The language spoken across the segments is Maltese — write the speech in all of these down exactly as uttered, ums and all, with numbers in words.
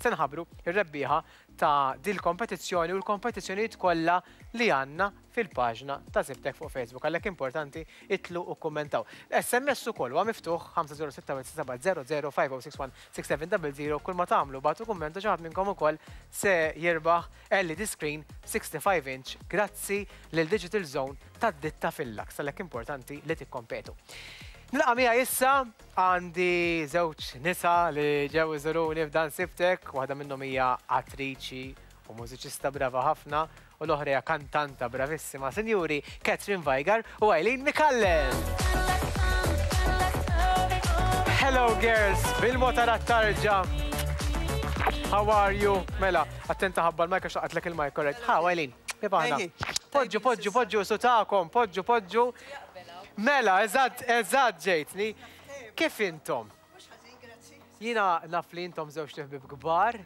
Se nħabbru ir-rebbieħa ta' dil-kompetizzjoni u l-kompetizzjonijiet kollha li għandna fil-paġna ta' Żibtek fuq Facebook. Għalhekk importanti itilgħu u kummentaw. S M S ukoll huwa miftuħ ħamsa żero sitta sitta seba' żero żero ħamsa żero sitta wieħed sitta seba' żero żero. Kull ma tagħmlu, ibagħtu kummentu, xi ħadd minnkom ukoll se jirbaħ L E D screen sixty-five inch grazzi lil Digital Zone tad-ditta Fil-Lux. Għalhekk importanti li tikkompetu. Nilqa' miegħi issa għandi żewġ nisa li ġew iżuruni f'dan Sibtek, waħda minnhom hija attriċi u mużiċista brava ħafna u l-oħra hija kantanta bravissima. Sinjuri, Catherine Vajgar u Eileen Micallef. Hello girls, bil-motar tarġa. How are you? Mela, attenta ħabba l-mic għax laqatlek il-mic, correct. Ha, Eileen, kif aħna? Poġġu, poġġu, poġġu, su tagħkom, poġġu, poġġu. Mela, eżatt, eżatt ġejtni. Kif intom? Jiena naf li intom żewġ ħbieb kbar.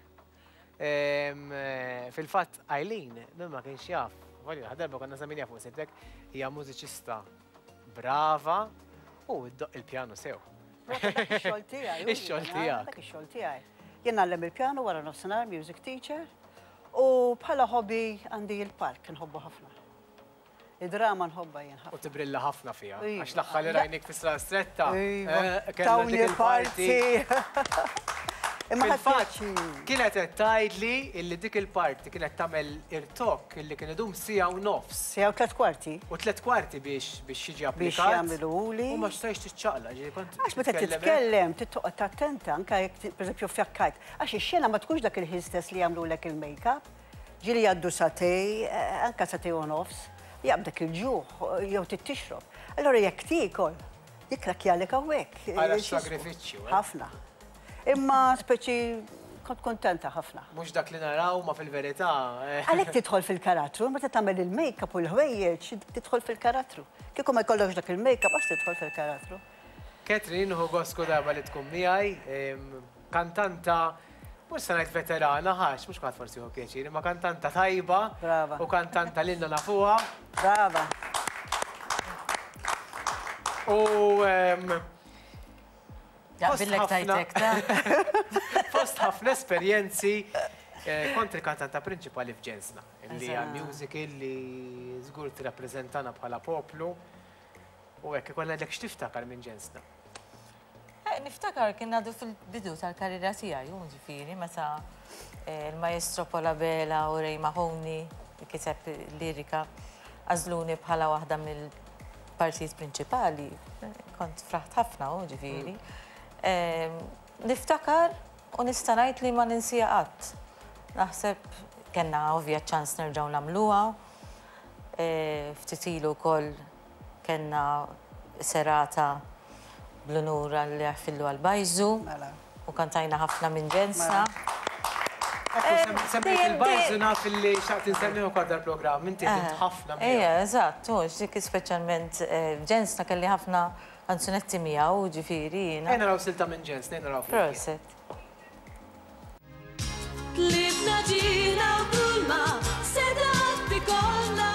Em, eh, Fil-fatt, Eileen, min ma kienx jaf, għalli, darba konna semmejnieha fuq Sibtek, hija mużiċista brava u ddoqq il-pjanu sew. Ix-xogħol tiegħi. Ix-xogħol tiegħek. Dak ix-xogħol tiegħi. Jien ngħallem il-pjanu wara nofsinhar, music teacher, u bħala hobby għandi il-park, nħobbu ħafna. Id-drama nħobba jien U ħafna. tibrilla ħafna fija. Iva. Għax l-aħħar li rajnik fi Strada Stretta. Iva. eh, kellna dik Tawni il-parti. parti. Imma ħadd Fil-fatt, pjaċir. kienet qed tgħidli illi dik il-parti kienet tagħmel irtokk illi kien idum siegħa u nofs. Siegħa u tliet kwarti. U tliet kwarti biex biex jiġi Biex applikat. jagħmluhuli. U ma stajx tiċċaqlaq, ġieli kont Għax meta titkellem. Titkellem, tittoqgħod attenta, anke jekk pereżempju fjakkajt. Għax ix-xena ma tkunx dak il-ħin stess li jagħmlulek il-make-up. Ġieli jgħaddu sagħtejn, eh, anke sagħtejn u nofs, jaqbdek il-ġuħ, jew tixrob. Allora jekk tiekol, jikrakjalek hawnhekk. Ara x-sagrifiċċju, eh? Ħafna. Imma speċi kont kontenta ħafna. Mhux dak li naraw ma fil-verità. eh, Għalhekk tidħol fil-karattru, meta tagħmel il-make-up u l-ħwejjeġ, tidħol fil-karattru. Kieku ma jkollokx dak il-make-up, għax tidħol fil-karattru. Catherine, hu gost kull darba li tkun miegħi, em, kantanta, mhux se ngħid veterana, ħax, mhux kulħadd forsi hu pjaċir, imma kantanta tajba Brava. U kantanta lilna nafuha. Brava. U em, Jaqbillek fost ħafna- tajtek, ta' fost ħafna esperjenzi, eh, kont il-kantanta prinċipali f'Ġensna, li hija musical li żgur tirrappreżentana bħala poplu. U hekk ikollna ngħidlek, x'tiftakar minn Ġensna? Eh, Niftakar kien għadu fil-bidu tal-karriera tiegħi, u ġifieri meta eh, il-maestro Paul Abela u Ray Mahoney li kiteb lirika għażluni bħala waħda mill-partijiet prinċipali. Eh, Kont fraħt ħafna, u ġifieri. Eh, Niftakar u nista' ngħid li ma ninsija qatt. Naħseb kellna ovvja ċans nerġgħu nagħmluha. Eh, Ftit ilu wkoll kellna serata bl-unur għal fillu għal-Bajżu Mela. U kantajna ħafna minn Ġensna. Ekku, semmejt dejjem- il-Bajżu, naf li xtaqt insemmi ukoll dal-programm, inti ħdimt ħafna miegħu. Ejja, eżatt, u dik speċjalment eh, Ġensna kelli ħafna kanzunetti miegħu, ġifieri jiena. Ejja naraw silta minn Ġensna, ejja naraw flimkien. Prosit. Tlifna ġiħna u kulma sedat ikollna.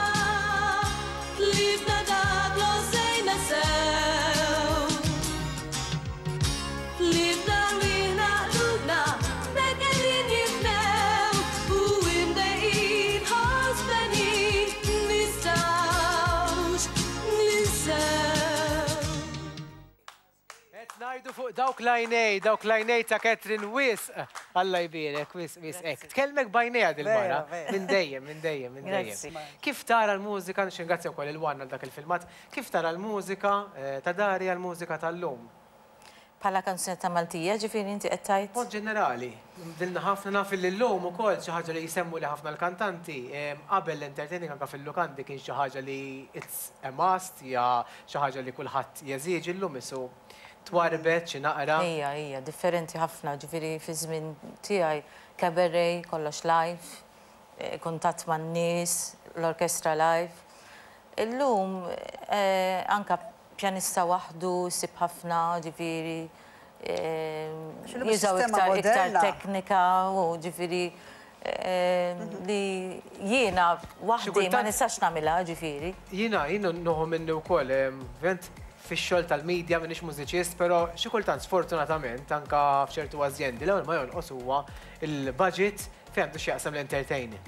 Tlifna dak l-għożżejna sew. Tlifna rwieħna, qlubna b'hekk qegħdin jifnew. U imdejqin ħosbenin nistgħux ninsew. Qed ngħidu fuq dawk l-għajnejn, dawk l-għajnejn ta' Catherine wisq. Alla jbierek, wisq, wisq, hekk. Tkellmek b'għajnejha dil-mara. Vera, vera. Minn dejjem, minn dejjem, minn dejjem. Grazzi. Kif tara l-mużika, nirringrazzja wkoll il-One għal dak il-filmat, kif tara l-mużika eh, ta' dari għal-mużika tal-lum? Bħala kanzunetta Maltija, ġifieri inti qed tgħid? Mod ġenerali, dilna ħafna, naf li l-lum ukoll xi ħaġa li jsemmu li ħafna l-kantanti, em, qabel l-entertaining anka fil-lukandi kien xi ħaġa li it's a must, hija xi ħaġa li kulħadd jeżiġi, llum isu twarbet xi naqra. Ija, ija, differenti ħafna, ġifieri fi żmien tiegħi cabaret, kollox live, eh, kuntatt man-nies, l-orkestra live. Illum eh, anka pjanista waħdu sib ħafna, ġifieri eh, X'illum jużaw is-sistema iktar iktar moderna. teknika u ġifieri eh, li jiena waħdi ma kultant- nistax nagħmilha, ġifieri. Jiena, jiena noħu minni wkoll, em, vent fix-xogħol tal-medja, m'iniex mużiċist, però xi kultant sfortunatament anka f'ċertu azjendi l-ewwel ma jonqos huwa il-budget fejn għandu x'jaqsam l-entertaining.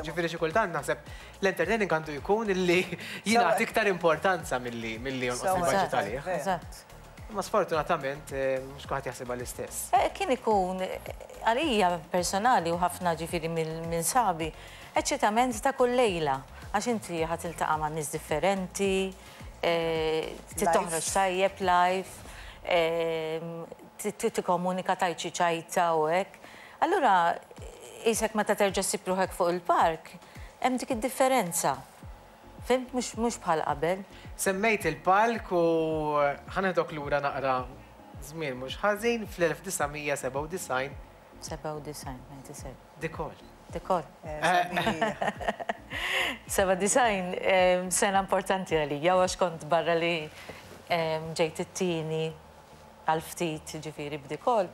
Ġifieri xi kultant naħseb l-entertaining għandu jkun illi jingħati iktar importanza milli milli jonqos il-budget għalih. Eżatt. Ma sfortunatament mhux kulħadd jaħsibha l-istess. Kien ikun għalija personali u ħafna ġifieri minn sabi, eċċitament ta' kull lejla, għax inti ħa tiltaqa' ma' nies differenti, toħroġ tajjeb live, tikkomunika tajt xi ċajta u hekk. Allura isek meta terġa' ssib ruħek fuq il-park, hemm dik id-differenza. Fimt, mhux bħal qabel. Semmejt il-palk u ħa neħdok lura naqra żmien mhux ħażin fl-elf disa' mija sebgħa u disgħin. Sebgħa u disgħin, ninety-seven. Dikol. Dikol. Seba' disgħin sena importanti għalija, għax kont barra li ġejt it-tieni għal ftit ġifieri b'dikol,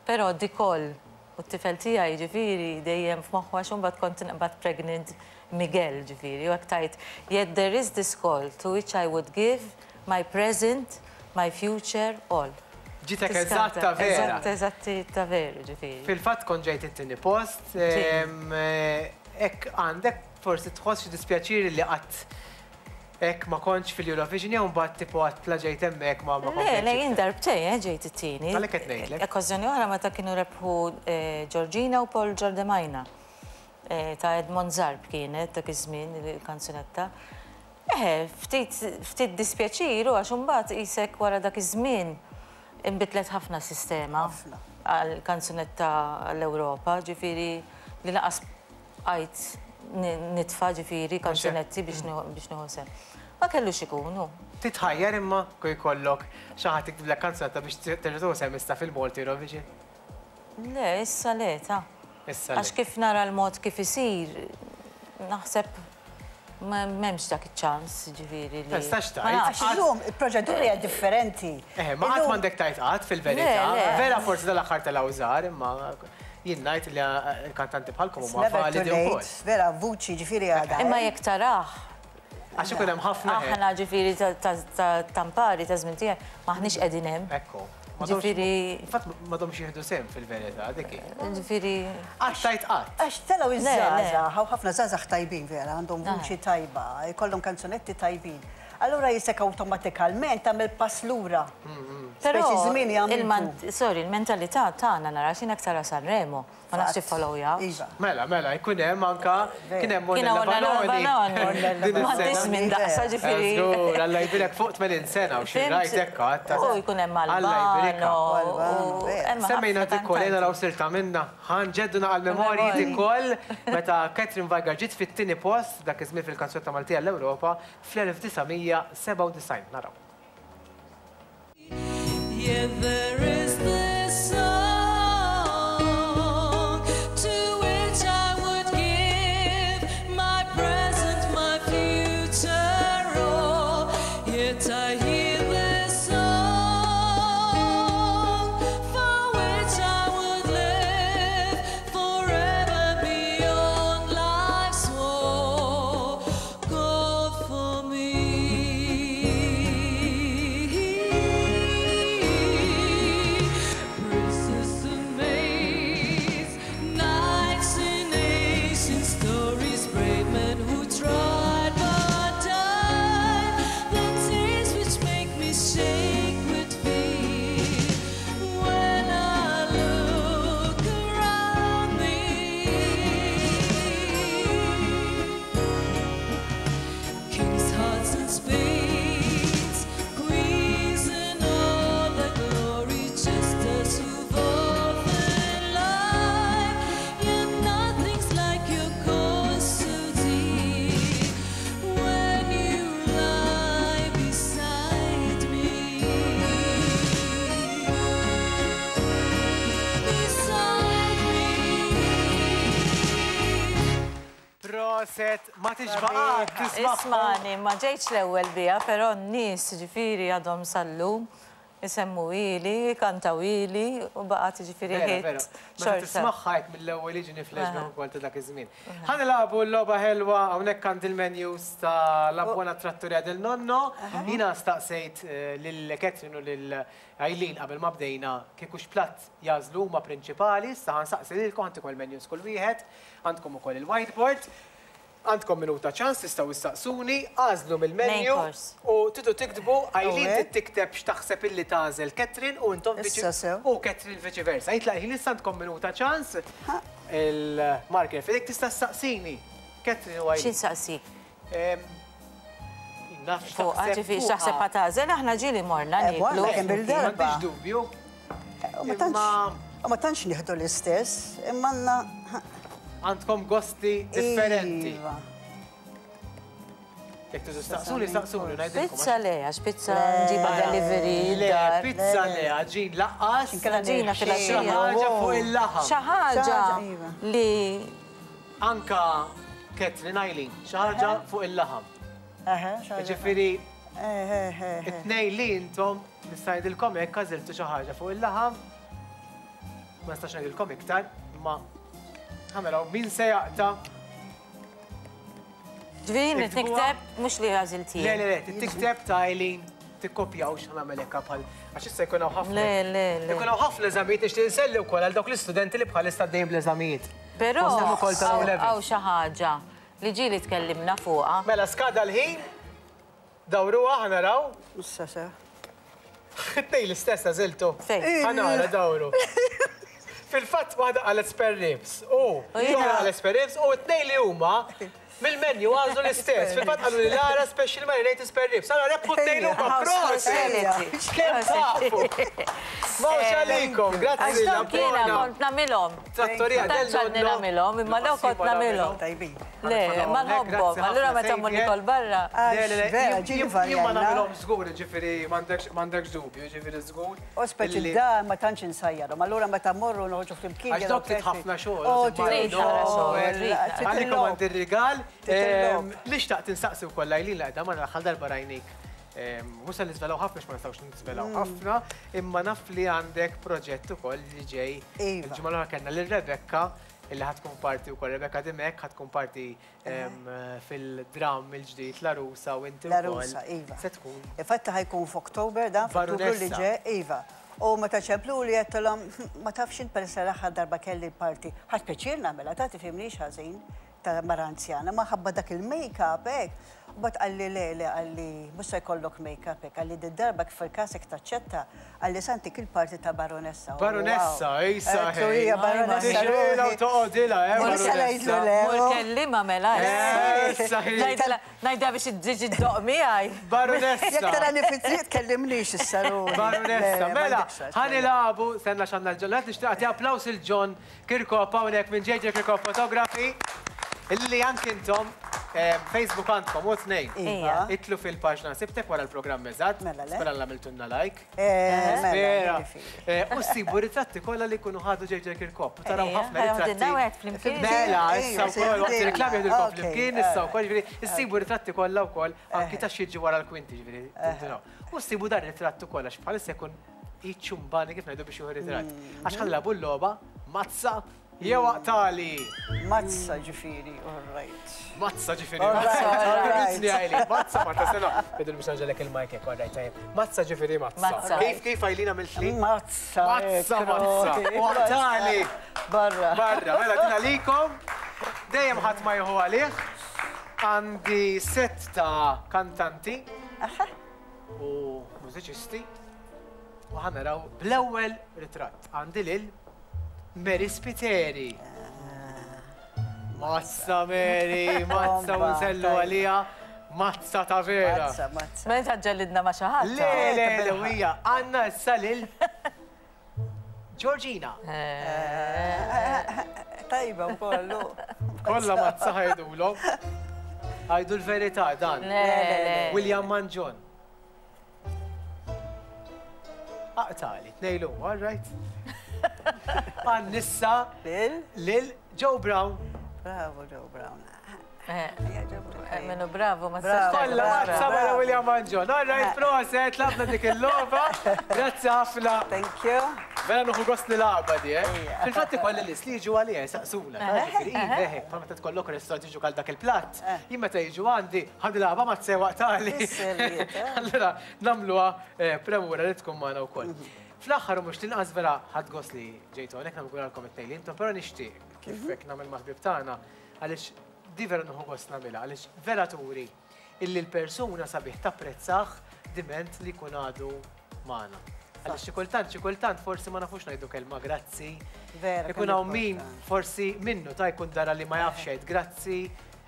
però dikol u t-tifel tiegħi ġifieri dejjem f'moħħu għax imbagħad kont nqbad pregnant Miguel ġifieri, u hekk tajt, yet there is this call to which I would give my present, my future, all. Ġitek eżatt ta' vera. Eżatt, eżatt ta' veru ġifieri. Fil-fatt kont ġejt it-tieni post, hekk għandek forsi tħoss xi dispjaċir li qatt hekk ma kontx fil-Eurovision jew mbagħad tipo qatt la ġejt hemmhekk ma ma Le, le, jien darbtejn ġejt it-tieni. Għalhekk qed ngħidlek. Okkażjoni oħra meta kienu rebħu Georgina u Paul Giordemaina ta' Edmond Zarb kienet dak iż-żmien il-kanzunetta. Eħe, ftit ftit dispjaċir u għax imbagħad isek wara dak iż-żmien inbidlet ħafna sistema għal kanzunetta għall-Ewropa, ġifieri li laqas bqajt nitfa' ġifieri kanzunetti biex nieħu sehem. Ma kellux ikunu. Titħajjar imma kif jkollok xi ħadd jiktiblek kanzunetta biex terġa' tieħu sehem issa fil-Malta Eurovision? Le, issa le, ta. Issa le. Għax kif nara l-mod kif isir, naħseb m'hemmx dak iċ-ċans, ġifieri li. Tistax tgħid. Għax illum il-proċedura hija differenti. Eh, ma qatt m'għandek tgħid qatt fil-verità. Vera forsi dal-aħħar tal-awżar, imma jien ngħid li l-kantanti bħalkom huma validi wkoll. Vera, vuċi ġifieri għadha. Imma jekk tarah. Għax ikun hemm ħafna. Aħna ġifieri ta' tampari ta' żmien tiegħek maħniex qegħdin hemm. Ekku. Ġifieri. Fatt m'għadhomx jieħdu sehem fil-verità dik hi. Ġifieri. Qatt tgħid qatt. Għax telgħu iż-żgħażagħ, hawn ħafna żgħażagħ tajbin vera, għandhom vuċi tajba, jkollhom kanzunetti tajbin. Allura jisek awtomatikalment tagħmel pass lura. Però Speċi żmien jagħmlu. Sorry, il-mentalità tagħna nara x'inhekk tara Sanremo, ma nafx iffollowjaw. Mela, mela, jkun hemm anka kien hemm Kien hawn Ornella Ornella Vanoni. Vanoni. Din M'għandix is-sena. minn daqsa ġifieri. Żgur, Alla jbirek fuq tmenin sena u xi Fimt? rajt hekk għadd. U jkun hemm Alla Albano. jbirikha. Albano, u vera. hemm ħafna Semmejna dikol, kantanti. jena raw sirta minna. Ħanġeddu naqal memorji Memorji. dikol meta Catherine Vajgar ġiet fit-tieni post dak iż-żmien fil-kanzunetta Maltija l-Ewropa fl-elf disa' mija sebgħa u disgħin. Naraw. Yeah, there is this song to which I would give my present, my future, all. Yet I hear this song for which I would live forever beyond life's war. God for me. Princes and maids, knights in ancient stories, brave men who tried but died. The tears which make me shake with fear when I look around me. Kings, hearts and spades, queens and all the glory, just as who've often lied. Yet nothing's like your cause so dear when you lie beside me. Beside me. Proset, ma tixbaqat, tisma' Ismani, ma ġejtx l-ewwel biha, però n-nies ġifieri għadhom sal-lum Isemmu ili, kantaw ili, u baqgħet ġifieri ħiet. Meta tismagħha hekk mill-ewwel jiġini flashback ukoll ta' dak iż-żmien. Ħa nilagħbu l-logħba ħelwa hawnhekk għand il-menus ta' La Buona Trattoria del Nonno. Jiena staqsejt lil Catherine u lil Eileen qabel ma bdejna kieku x'platt jagħżlu huma prinċipali, issa ħa nsaqsi lilkom għandkom il-menus kull wieħed, għandkom ukoll il-whiteboard. Għandkom minuta ċans tistgħu issaqsuni, għażlu mill-menu u tidu tiktbu Eileen trid tikteb x'taħseb illi tagħżel Catherine u intom u Catherine viċi versa. Jitlaq ħin issa għandkom minuta ċans il-marker f'idek tista' ssaqsini. Catherine u Eileen. X'insaqsik? Fuq, ġifieri x'taħseb ħa tagħżel, aħna ġieli morna nieklu. M'għandix dubju. U ma tantx nieħdu l-istess, imma għandna għandkom gosti differenti. Jekk tiżu staqsuni, staqsuni, ngħidilkom. Pizza le, għax pizza nġiba delivery. Le, pizza le, għaġin laqqas. Ġina fil-għaxija. Xi ħaġa fuq il-laħam. Xi ħaġa li. Anka Catherine Eileen, xi ħaġa fuq il-laħam. Ġifieri, it-tnejn li intom nista' ngħidilkom hekk għażiltu xi ħaġa fuq il-laħam. Ma nistax ngħidilkom iktar, imma ħa naraw min se jaqta'. Ġifieri nikteb mhux li għażilt jien. Le, le, le, tikteb ta' Eileen, tikkopjawx ħa nagħmel hekk bħal għax issa jkun hawn ħafna. Le, le, le. Jkun hawn ħafna eżamijiet nixtieq inselli wkoll għal dawk l-istudenti li bħalissa għaddejjin bl-eżamijiet. Però hawn xi ħaġa li ġieli tkellimna fuqha. Mela skada l-ħin, dawruha ħa naraw. Issa se. It-tnejn l-istess għażiltu. Fejn? Ħa nara dawru. Fil-fatt waħda qalet spare ribs. U jiena qalet spare ribs u t-tnejn li huma mill-menu għażlu l-istess. Fil-fatt qalu li Lara special marinated spare ribs. Allora rebħu t-tnejn huma prosit! Kemm tafu! Mawx għalikom, grazzi Għax dawk jiena kont nagħmilhom. Trattoria del Nagħmilhom, nagħmilhom, imma dawk kont nagħmilhom. Le, ma nħobbhom, allura meta mmur nikol barra. Le, le, le, jien ma nagħmilhom żgur, ġifieri m'għandekx dubju, ġifieri żgur. U speċi da ma tantx insajjarhom, allura meta mmorru noħorġu flimkien. Għax dawk trid ħafna xogħol. Għalikom għandi r-rigal. Li xtaqt insaqsi wkoll Eileen li qiegħda magħna l-aħħar darba rajnik. Mhux se niżvelaw ħafna ma nistgħux niżvelaw ħafna, imma naf li għandek proġett ukoll li ġej. Il-ġimgħa l-oħra kellna lil Rebecca illi ħa tkun parti wkoll Rebecca Dimech ħa tkun parti fil-dramm il-ġdid La Rusa u inti La Rusa, iva. Se tkun. Infatti ħa jkun f'Oktober dan f'Ottubru li ġej, iva. U meta ċemplu li għedtilhom ma tafx int peress l-aħħar darba kelli parti. Ħadt pjaċir nagħmilha, ta' tifhimnix ħażin ta' mara anzjana, ma ħabba dak il-make-up hekk. U bat qalli le, le, qalli mhux se jkollok make-up hekk, qalli d-darba kif il-kasek taċċetta, qalli santik il-parti ta' baronessa. Baronessa, issa. Hija baronessa. Tixrila u toqgħodilha, eh, baronessa. Mur kellima mela. Ngħidha biex tiġi ddoq miegħi. Baronessa. Jekk tarani fit-triq tkellimnix issa ruħi. Baronessa, mela, ħa nilagħbu, stenna x'għandna l-John. Qed nixtieq nagħti applaws il John Kirkop hawnhekk minn J J Kirkop Photography. Illi anki intom Facebook għandkom u tnejn. Itlu fil-paġna Sibtek wara l-programm eżatt. Spera li għamiltulna like. Spera. U ssibu ritratti kollha li jkunu ħadu J J Kirkop. Taraw ħafna ritratti. Mela, issa wkoll waqt ir-reklam jieħdulkom flimkien, issa wkoll ġifieri issibu ritratti kollha wkoll anki ta' xi jiġi wara l-kwinti ġifieri. U ssibu dan ir-ritratt ukoll għax bħalissa jkun iċċumbani kif ngħidu biex jieħu ritratt. Għax ħa nilagħbu l-logħba mazza jew aqtali. Mazza ġifieri, all right. Mazza ġifieri, mazza. Mazza, ma tasena. Bidu biex naġelek il-mic hekk, all right, tajjeb. Mazza ġifieri, mazza. Kif kif Eileen għamilt li? Mazza. Mazza, mazza. U aqtali. Barra. Barra, mela din għalikom. Dejjem ħadd ma jieħu għalih. Għandi set ta' kantanti u mużiċisti. U ħa naraw bl-ewwel ritratt. Għandi lil Mary Spiteri. Mazza Mary, mazza u nsellu għalija, mazza ta' vera. Mazza, mazza. Meta ġellidna ma' xi ħadd. Le, le, le, hija għandna issa lil Georgina. Tajba wkoll. Kollha mazza ħajdulhom. Għajdu l-verità dan. William Manġon. Aqtali, tnejlu, all right. Għannissa Lil? Lil Joe Brown. Bravo, Joe Brown. Minnu bravo, ma Bravo. tistax Kolla, Bravo. mazza mela William Mangion. All right, proset, tlabna dik il-logħba. Grazzi ħafna. Thank you. Vera nieħu gost nilgħabha di, eh? Fil-fatt ikolli nies li jiġu għalija jisaqsuna. Ġifieri, iva, bħal meta tkollok restaurant jiġu għal dak il-platt. Jien meta jiġu għandi, ħa nilgħabha ma tsewaq tali. Is-serjetà. Allura, nagħmluha eh, premura li tkun magħna wkoll. Fl-aħħar u mhux tinqas, vera ħadt gost li ġejtu hawnhekk, nawguralkom it-tnejn li intom, però nixtieq kif hekk nagħmel mal-ħbieb tagħna, għaliex di vera nieħu gost nagħmilha, għaliex vera turi illi l-persuna sabiħ tapprezzah diment li jkun għadu magħna. Għaliex xi kultant, xi kultant forsi ma nafux ngħidu kelma grazzi. Vera, Ikun kemm hawn min importanti. forsi minnu ta' jkun dara li ma jafx jgħid grazzi,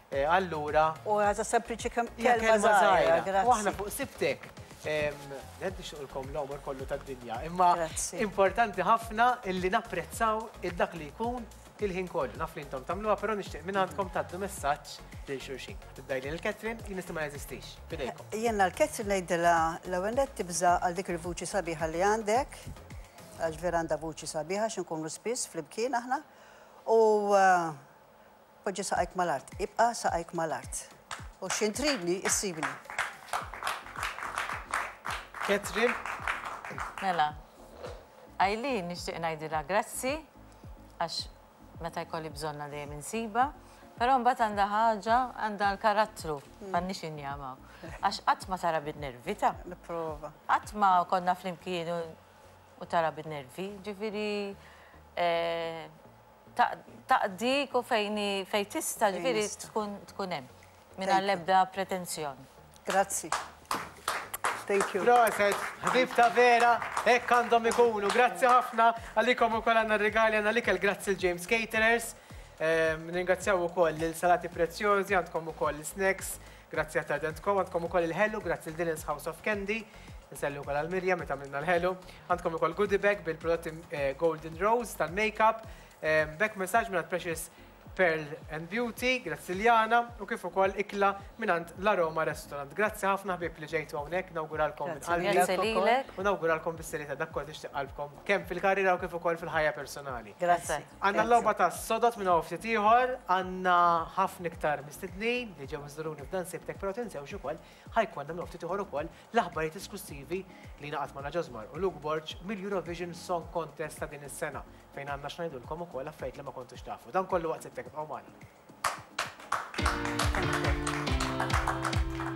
eh, allura U għaza sempliċi kem- hija kelma żgħira, żgħira. U aħna grazzi. fuq Sibtek. Ned nixtiequlkom l-għomor kollu tad-dinja. Imma Grazzi. importanti ħafna illi napprezzaw id-dak li jkun il-ħin kollu. Naf li intom tagħmluha, però nixtieq minn għandkom tgħaddu messaġġ lil xulxin. Tibda lil Catherine, jien nista' ma jeżistix. Bidejkom. Jiena l-Catherine ngħidilha l-ewwel nett tibża' għal dik il-vuċi sabiħa li għandek, għax vera għandha vuċi sabiħa x'inkunu spiss flimkien aħna. U uh, poġġi saqajk mal-art, ibqa' saqajk mal-art. U x'ħin tridni, issibni. Catherine, Mela, Eileen nixtieq ngħidilha grazzi, għax meta jkolli bżonna dejjem insiba, però mbagħad għandha ħaġa, għandha l-karattru, m'għandniex injamaw. Għax qatt ma tara bin-nervi ta' Nipprova. Qatt ma konna flimkien u- u tara bin-nervi, ġifieri eh, ta- taqdik u fejn fejn tista', ġifieri nista'. tkun tkun hemm. Thank Mingħajr you. l-ebda pretenzjoni. Grazzi. Thank you. Proset, ħbib ta' vera, hekk għandhom ikunu. Grazzi ħafna għalikom ukoll għandna regali, għandna l-ikel, grazzi l-James Caterers. Ehm, Ringrazzjaw ukoll l-salati prezzjożi, għandkom ukoll l-snacks, grazzi għat Tardentkom, għandkom ukoll il-ħelu, grazzi l-Dylan's House of Candy. Nsellu ukoll għal-Mirja meta għamilna l-ħelu. Għandkom ukoll goodie bag bil-prodotti eh, Golden Rose tal-makeup, ehm, back massage minn Precious Pearl and Beauty, grazzi Liana, u kif ukoll ikla mingħand l-Aroma Restaurant. Grazzi ħafna, ħbieb, li ġejtu hawnhekk, nawguralkom minn Grazzi. qalbi. Grazzi lilek. U nawguralkom bis-serjetà dak kollu tixtieq qalbkom kemm fil-karriera u kif ukoll fil-ħajja personali. Grazzi. Għandna l-logħba ta' sodot minn hawn ftit ieħor, għandna ħafna iktar mistednin li ġew iżuruni f'dan Sibtek, però tinsewx ukoll ħa jkollna minn ftit ieħor ukoll l-aħbarijiet esklusivi li ngħaqad magħna Ġosmar u Luke Borg mill-Eurovision Song Contest ta' din is-sena, fejn għandna x'ngħidulkom ukoll affarijiet li ma kontux tafu. Dan kollu waqt Sibtek, ibqgħu magħna. Thank you.